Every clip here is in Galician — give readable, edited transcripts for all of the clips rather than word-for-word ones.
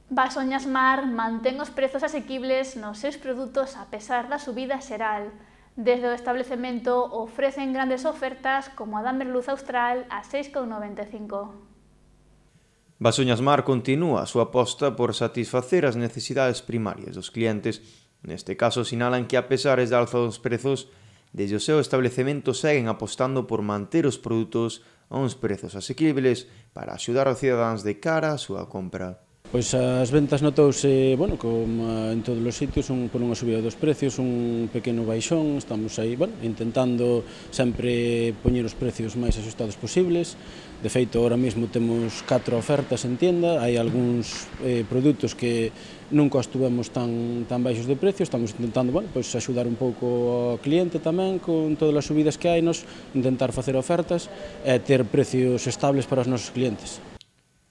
Basoñas Mar mantén os prezos asequibles nos seus produtos a pesar da subida xeral. Desde o establecemento ofrecen grandes ofertas como a da merluza austral a 6,95. Basoñas Mar continúa a súa aposta por satisfacer as necesidades primarias dos clientes. Neste caso sinalan que a pesar da alza dos prezos, desde o seu establecemento seguen apostando por manter os produtos a uns prezos asequibles para axudar aos cidadáns de cara á súa compra. Pois as ventas notouse, como en todos os sitios, por unha subida dos precios, un pequeno baixón, estamos aí, intentando sempre poñer os precios máis axustados posibles. De feito, ahora mesmo temos 4 ofertas en tienda, hai algúns produtos que nunca estuvemos tan baixos de precio, estamos intentando, axudar un pouco ao cliente tamén, con todas as subidas que hai, intentar facer ofertas e ter precios estables para os nosos clientes.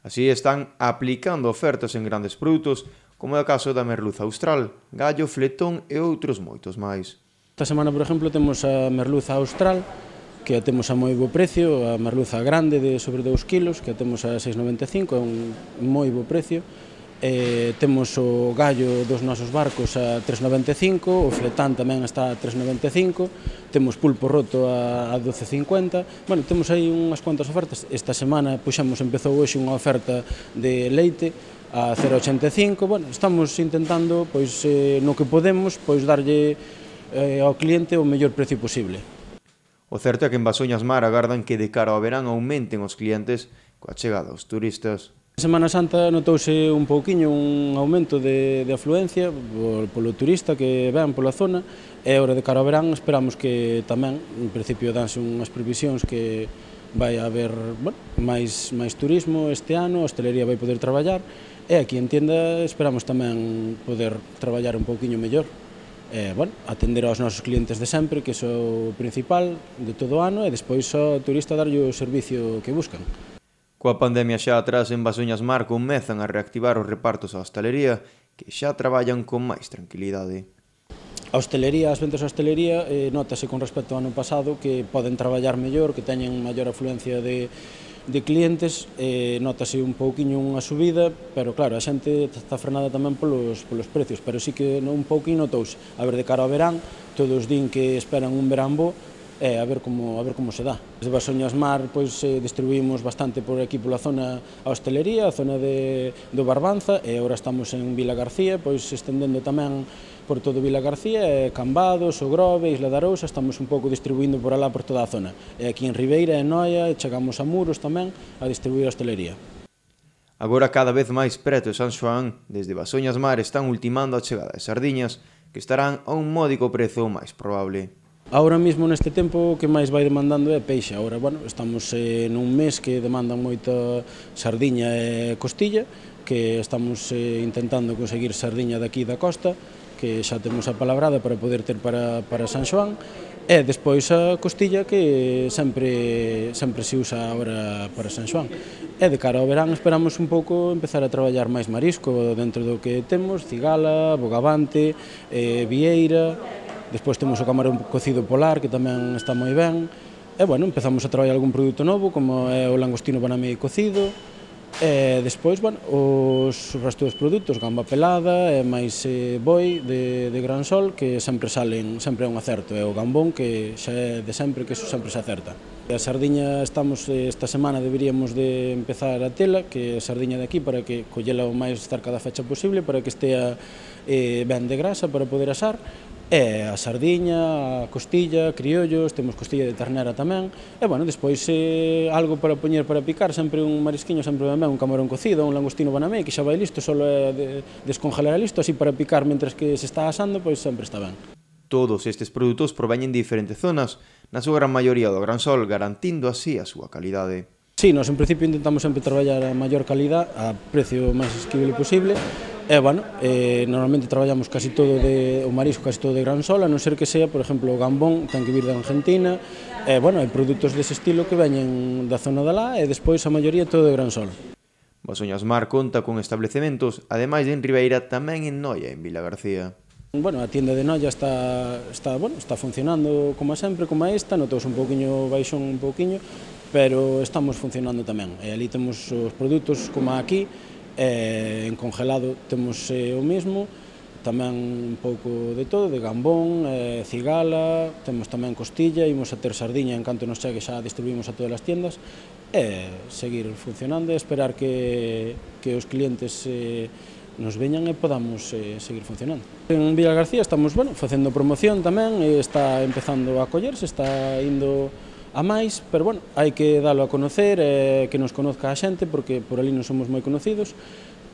Así están aplicando ofertas en grandes produtos, como é o caso da merluza austral, gallo, fletón e outros moitos máis. Esta semana, por exemplo, temos a merluza austral, que a temos a moi bo precio, a merluza grande de sobre 2 kilos, que a temos a 6,95, é un moi bo precio. Temos o gallo dos nosos barcos a 3,95, o fletán tamén está a 3,95, temos pulpo roto a 12,50. Temos aí unhas cuantas ofertas. Esta semana empezou hoxe unha oferta de leite a 0,85. Estamos intentando, no que podemos, darlle ao cliente o mellor precio posible. O certo é que en Basoñas Mar agardan que de cara ao verán aumenten os clientes coa chegada dos turistas. En Semana Santa notouse un pouquiño un aumento de afluencia polo turista que ven pola zona, e agora de cara ao verán esperamos que tamén, en principio danse unhas previsións que vai haber máis turismo este ano, a hostelería vai poder traballar, e aquí en tienda esperamos tamén poder traballar un pouquiño mellor. Atender aos nosos clientes de sempre, que é o principal de todo o ano, e despois ao turista darlle o servicio que buscan. Coa pandemia xa atrás, en Basoñas Mar comezan a reactivar os repartos á hostalería, que xa traballan con máis tranquilidade. A hostelería, as ventas á hostelería, notase con respecto ao ano pasado que poden traballar mellor, que teñen maior afluencia de clientes, notase un pouquiño unha subida, pero claro, a xente está frenada tamén polos precios, pero sí que un pouquiño notouse. A ver, de cara ao verán, todos din que esperan un verán bo, a ver como se dá. Desde Basoñas Mar distribuímos bastante por aquí pola zona a hostelería, a zona do Barbanza, e agora estamos en Vila García, estendendo tamén por todo Vila García, Cambados, O Grove, Isla da Arousa, estamos un pouco distribuindo por alá por toda a zona. E aquí en Ribeira, en Noia, chegamos a Muros tamén a distribuir a hostelería. Agora cada vez máis preto de San Xoán, desde Basoñas Mar están ultimando a chegada de sardiñas, que estarán a un módico prezo máis probable. Ahora mesmo neste tempo o que máis vai demandando é peixe. Agora, estamos nun mes que demandan moita sardiña e costilla, que estamos intentando conseguir sardiña daqui da costa, que xa temos apalabrada para poder ter para San Xoán, e despois a costilla que sempre se usa agora para San Xoán. E de cara ao verán esperamos un pouco empezar a traballar máis marisco dentro do que temos, cigala, bogavante, vieira. Despois temos o camarón cocido polar, que tamén está moi ben. E, empezamos a traballar algún produto novo, como é o langostino banamí cocido. E despois, os resto dos produtos, gamba pelada e máis boi de gran sol, que sempre é un acerto. E o gambón, que xa é de sempre, que eso sempre se acerta. A sardiña esta semana deberíamos de empezar a tela, que é a sardiña de aquí, para que collela o máis cerca da fecha posible, para que estea ben de grasa para poder asar. E a sardiña, a costilla, criollos, temos costilla de ternera tamén, e despois algo para poñer para picar, sempre un marisquiño, sempre ben, un camarón cocido, un langostino banamé, que xa vai listo, só é descongelar listo, así para picar mentres que se está asando, sempre está ben. Todos estes produtos proveñen de diferentes zonas, na súa gran maioría do Gran Sol, garantindo así a súa calidade. Sí, nós en principio intentamos sempre traballar a maior calidad, a precio máis asequible posible. Normalmente traballamos casi todo o marisco casi todo de Gran Sol, a non ser que sea, por exemplo, o gambón ten que vir de Argentina, hai produtos dese estilo que veñen da zona de lá, e despois a maioría todo de Gran Sol. Basoñas Mar conta con establecementos, ademais de en Ribeira, tamén en Noia, en Vila García. A tienda de Noia está funcionando como sempre, como esta, notouse un pouquiño baixón pero estamos funcionando tamén. E ali temos os produtos como aquí, En congelado temos o mesmo, tamén un pouco de todo, de gambón, cigala, temos tamén costilla, imos a ter sardiña en canto nos chegue, xa distribuímos a todas as tiendas, e seguir funcionando e esperar que os clientes nos veñan e podamos seguir funcionando. En Villa García estamos facendo promoción tamén, está empezando a collerse, está indo a máis, pero hai que dalo a conocer, que nos conozca a xente, porque por ali non somos moi conocidos,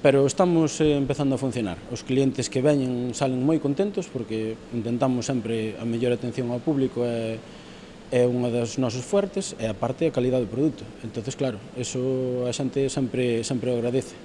pero estamos empezando a funcionar. Os clientes que veñen salen moi contentos porque intentamos sempre a mellor atención ao público, é unha das nosos fuertes, e aparte a calidade do produto. Entonces, claro, eso a xente sempre o agradece.